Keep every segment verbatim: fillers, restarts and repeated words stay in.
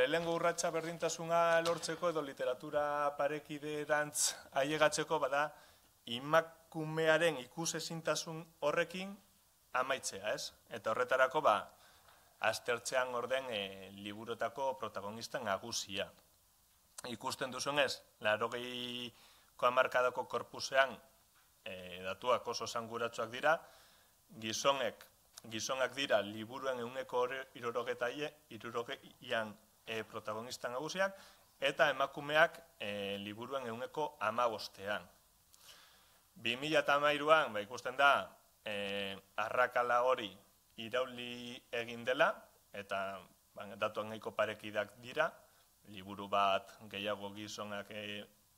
lehengo urratsa berdintasuna lortzeko edo literatura parekiderantz ailegatzeko bada emakumearen ikusezintasun horrekin amaitzea, ez? Eta horretarako, ba, aztertzean orden liburutako protagonista nagusia. Ikusten duzunez, laurogeiko hamarkadako korpusean datuak oso esanguratsuak dira, gizonek, gizonak dira liburuen ehuneko hirurogeian protagonista nagusiak, eta emakumeak liburuen ehuneko hamabostean. bi mila hamairuan ikusten da arrakala hori irauli egin dela, eta datuak nahiko parekidak dira, liburu bat gehiago gizonak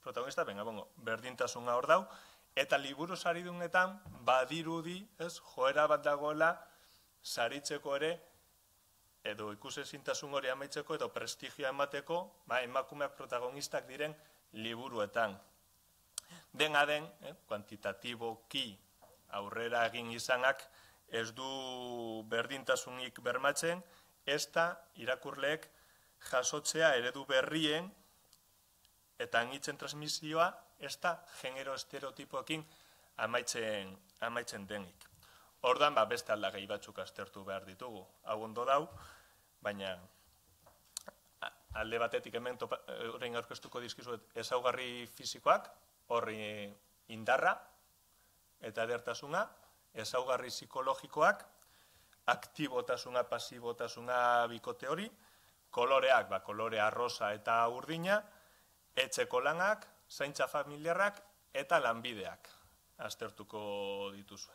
protagonista, benga, bongo, berdintasuna hor dau, eta liburu saridunetan badirudi, ez, joera bat dagoela saritzeko ere, edo ikusezintasun hori amaitzeko, edo prestigioa emateko, emakumeak protagonistak diren liburuetan. Dena den, kuantitatiboki aurrera egin izanak, ez du berdintasunik bermatzen, ez da irakurleek jasotzea eredu berrien eta anitzen transmisioa ez da genero estereotipoekin amaitzen denik. Ordan, beste aldagai batzuk aztertu behar ditugu. Hau ondo dau, baina alde batetik hemen orain aurkeztuko dizkizuet ezaugarri fisikoak, horri indarra eta edertasuna, ezaugarri psikologikoak, aktibotasuna, pasibotasuna bikote hori, koloreak, kolore arrosa eta urdina, etxeko lanak, zaintza familiarrak eta lanbideak aztertuko dituzue.